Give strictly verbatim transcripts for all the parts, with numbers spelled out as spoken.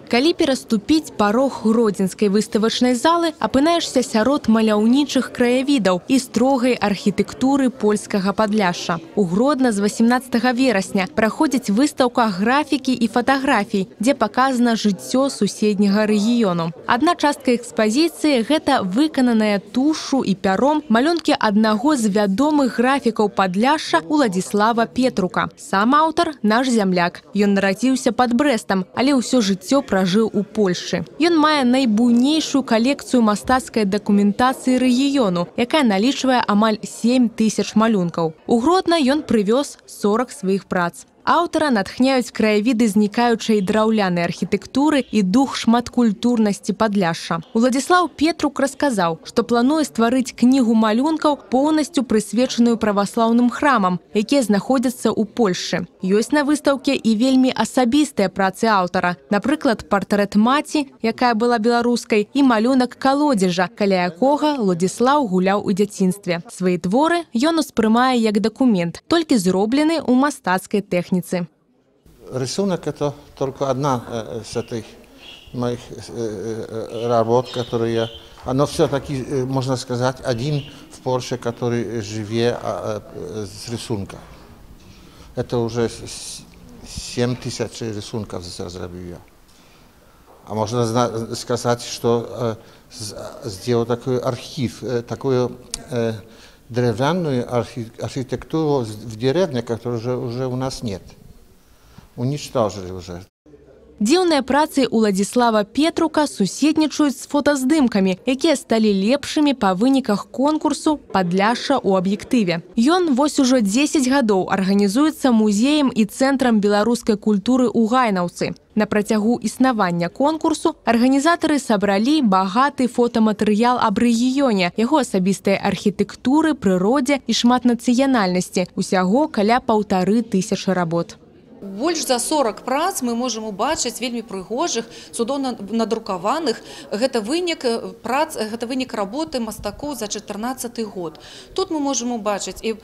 Калі пераступіць парог гродзенскай выставачнай залы, апынаешся сярод маляўнічых краявідаў і строгай архітэктуры польскага Падляшша. У Гродна з васямнаццатага верасня праходзіць выстаўка графікі і фатаграфій, дзе паказана жыццё суседняга рэгіёну. Адна частка экспазіцыі – гэта выкананая тушу і пяром малюнкі аднаго з вядомых графікаў Падляшша Уладзіслава Петрука. Сам аўтар – наш зямляк. Ён нарадзіўся пад Брэстам, але ўсё жыццё пражыў у Польшчы. Ён мае найбуйнейшую калекцыю мастацкай дакументацыі рэгіёну, якая налічвае амаль сем тысяч малюнкаў. У Гродна ён прывёз сорок сваіх прац. Аўтара натхняюць краявіды знікаючай драўлянай архітэктуры і дух шматкультурнасці Падляшша. Уладзіслаў Петрук расказаў, што плануе стварыць кнігу малюнкаў, поўнасцю прысвечаную праваслаўным храмам, якія знаходзяцца ў Польшчы. Ёсць на выстаўке і вельмі асабістыя працы аўтара. Напрыклад, партрэт маці, якая была беларускай, і малюнак калодзежа, каля якога Уладзіслаў гуляў у дзяцінстве. Свае творы ён успрымае як дакумент, толькі зроблены ў мастацкай тэхніцы. Рисунок – это только одна э, с этих моих э, работ, которые я... Оно все-таки, э, можно сказать, один в Польше, который живет э, э, с рисунка. Это уже семь тысяч рисунков сделал я. А можно сказать, что э, сделал такой архив, э, такую э, древляную архи архитектуру в деревне, которой уже, уже у нас нет. Уничтожили уже. Дзіўныя працы Уладзіслава Петрука суседнічаюць з фотаздымкамі, якія сталі лепшымі па выніках конкурсу «Падляшша ў аб'ектыве». Ён вось ужо дзесяць гадоў арганізуецца музеем і цэнтрам беларускай культуры ў Гайнаўцы. На працягу існавання конкурсу арганізатары сабралі багаты фотаматэрыял аб рэгіёне, яго асабістай архітэктуры, прыродзе і шматнацыянальнасці. Усяго каля паўтары тысячы работ. Больш за сорок прац мы можам убачыць вельмі прыгожых, цудоўна надрукаваных. Гэта вынік прац, гэта вынік работы мастакоў за чатырнаццаты год. Тут мы можам убачыць і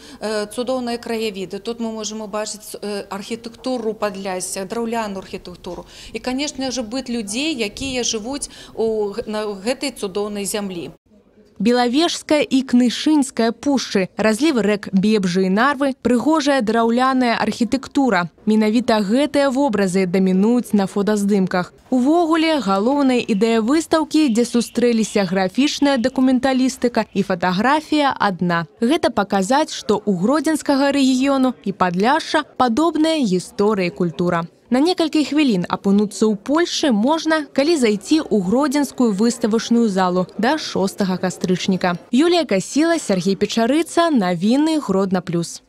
цудоўныя краявіды, тут мы можам убачыць архітэктуру Падляшша, драўляную архітэктуру. І, канешне ж, быт людзей, якія жывуць у, на гэтай цудоўнай зямлі. Белавежская і Кнышынская пушчы, разлівы рэк Бебжы і Нарвы, прыгожая драўляная архітэктура. Менавіта гэтыя вобразы дамінуюць на фотаздымках. Увогуле, галоўная ідэя выстаўкі, дзе сустрэліся графічная дакументалістыка і фатаграфія адна. Гэта паказаць, што ў гродзенскага рэгіёну і Падляшша падобная гісторыя і культура. На некалькі хвілін апынуцца ў Польшчы можна, калі зайти ў гродзенскую выставачную залу да шостага кастрычніка. Юлія Касіла, Сергей Печарыца, навіны Гродна плюс.